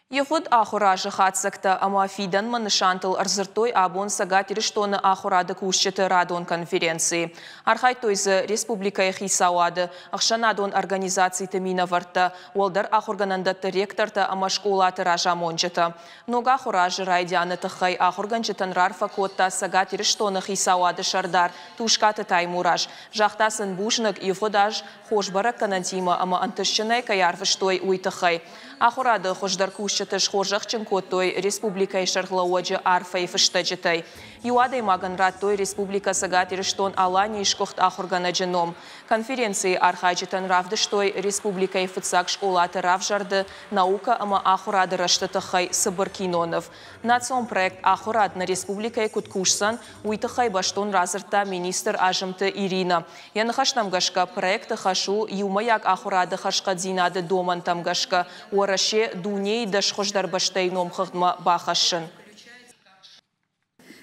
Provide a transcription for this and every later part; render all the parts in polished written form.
Ивгъуыд ахуыры азы хатдзӕгтӕ ӕмӕ фидӕнмӕ нысантыл ӕрдзырдтой абон Цӕгат Ирыстоны ахуырады кусджыты радон конференцийы. Архайдтой дзы республикӕйы хицауады, ӕхсӕнадон организациты минӕвӕрттӕ, уӕлдӕр ахуыргӕнӕндӕтты ректортӕ ӕмӕ скъолаты разамонджытӕ. Ног ахуыры азы райдианы тыххӕй ахуыргӕнджытӕн раарфӕ кодта Цӕгат Ирыстоны хицауады сӕрдар Тускъаты Таймураз. Загъта сын бузныг, ивгъуыд аз хорз бӕрӕггӕнӕнтимӕ ӕмӕ ӕнтыстджынӕй кӕй арвыстой, уый тыххӕй. Ахуырады хуыздӕр кусджыты схорзӕхджын кодтой республикӕйы сӕргълӕууӕджы арфӕйы фыстӕджытӕй. Иу адӕймагӕн радтой Республикӕ Цӕгат Ирыстон-Аланийы сгуыхт ахуыргӕнӕджы ном. Конференцийы архайджытӕн равдыстой республикӕйы фыццаг скъолаты равзӕрды, наукӕ ӕмӕ ахуырады рӕзты тыххӕй цыбыр киноныв. Национ проект Ахуырад нӕ республикӕйы куыд кусдзӕн, уый тыххӕй бӕстон радзырдта министр Азымты Иринӕ. Йӕ ныхӕстӕм гӕсгӕ, проекты хӕс у иумӕйаг ахуырады хӕрзхъӕддзинады домӕнтӕм гӕсгӕ Уӕрӕсе дунейы 10 хуыздӕр бӕстӕйы номхыгъдмӕ бахӕссын.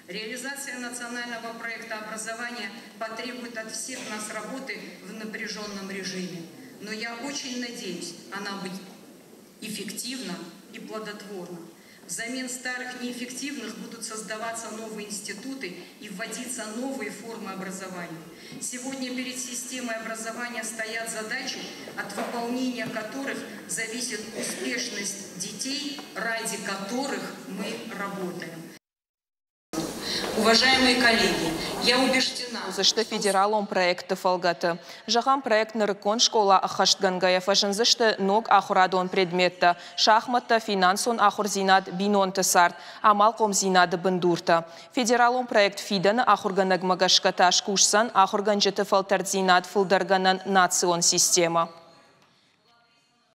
Реализация национального проекта образования потребует от всех нас работы в напряженном режиме. Но я очень надеюсь, она будет эффективна и плодотворна. Взамен старых неэффективных будут создаваться новые институты и вводиться новые формы образования. Сегодня перед системой образования стоят задачи, от выполнения которых зависит успешность детей, ради которых мы работаем. Уважаемые коллеги, я убеждена, уыдзысты федералон проектты фӕлгӕты. Зӕгъӕм, проект «Нырыккон скъола» ӕххӕстгӕнгӕйӕ фӕзындзысты ног ахуырадон предметтӕ: шахматтӕ, финансон ахуырдзинад, бинонты цард, амалхъомдзинады бындуртӕ. Федералон проект «Фидӕны ахуыргӕнӕгмӕ» гӕсгӕ та скусдзӕн ахуыргӕнджыты фӕлтӕрддзинад фылдӕргӕнӕн национ системӕ.